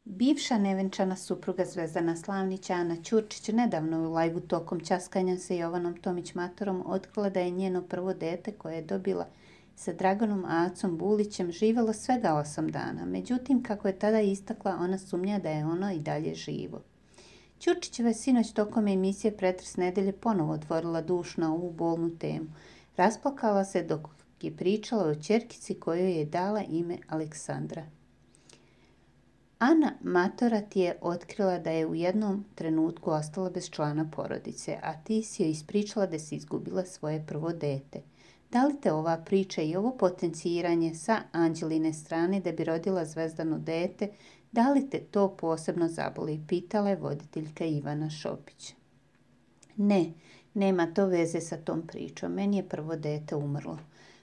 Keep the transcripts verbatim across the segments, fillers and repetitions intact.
Bivša nevenčana supruga Zvezdana Slavnić, Ana Ćurčić, nedavno u lajvu tokom ćaskanja sa Jovanom Tomić-Matorom otkrila da je njeno prvo dete koje je dobila sa Draganom Acom Bulićem živjelo svega osam dana. Međutim, kako je tada istakla, ona sumnja da je ono i dalje živo. Ćurčićeva je sinoć tokom emisije Pretres nedelje ponovo otvorila duš na ovu bolnu temu. Rasplakala se dok je pričala o ćerkici kojoj je dala ime Aleksandra. Ana Matora ti je otkrila da je u jednom trenutku ostala bez člana porodice, a ti si joj ispričala da si izgubila svoje prvo dete. Da li te ova priča i ovo potenciranje sa Anđeline strane da bi rodila Zvezdano dete, da li te to posebno zaboli? Pitala je voditeljka Ivana Šopić. Ne, nema to veze sa tom pričom. Meni je prvo dete umrlo.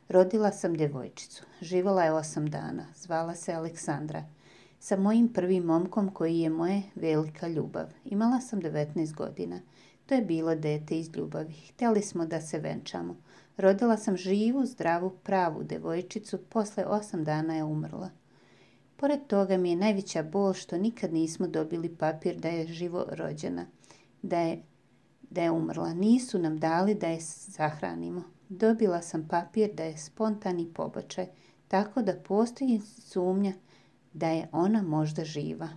Rodila sam djevojčicu. Živjela je osam dana. Zvala se Aleksandra. Sa mojim prvim momkom koji je moje velika ljubav. Imala sam devetnaest godina. To je bilo dete iz ljubavi. Htjeli smo da se venčamo. Rodila sam živu, zdravu, pravu djevojčicu. Posle osam dana je umrla. Pored toga mi je najveća bol što nikad nismo dobili papir da je živo rođena, da je, da je umrla. Nisu nam dali da je sahranimo. Dobila sam papir da je spontani pobačaj, tako da postoji sumnja da je ona možda živa.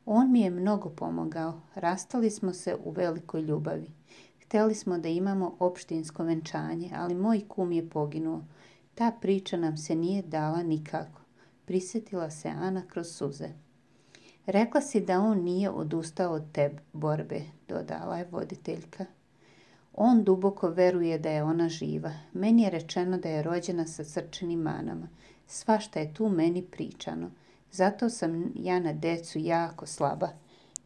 On mi je mnogo pomogao. Rastali smo se u velikoj ljubavi. Htjeli smo da imamo opštinsko venčanje, ali moj kum je poginuo. Ta priča nam se nije dala nikako. Prisjetila se Ana kroz suze. Rekla si da on nije odustao od te borbe, dodala je voditeljka. On duboko veruje da je ona živa. Meni je rečeno da je rođena sa srčanim manama. Svašta je tu meni pričano. Zato sam ja na decu jako slaba.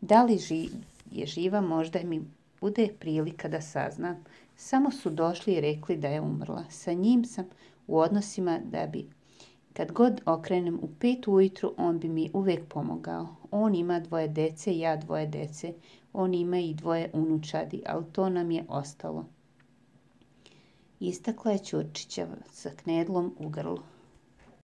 Da li ži, je živa, možda mi bude prilika da saznam. Samo su došli i rekli da je umrla. Sa njim sam u odnosima da bi, kad god okrenem u pet ujutru, on bi mi uvijek pomogao. On ima dvoje dece, ja dvoje dece. On ima i dvoje unučadi, ali to nam je ostalo. Istakla je Ćurčićeva sa knedlom u grlu.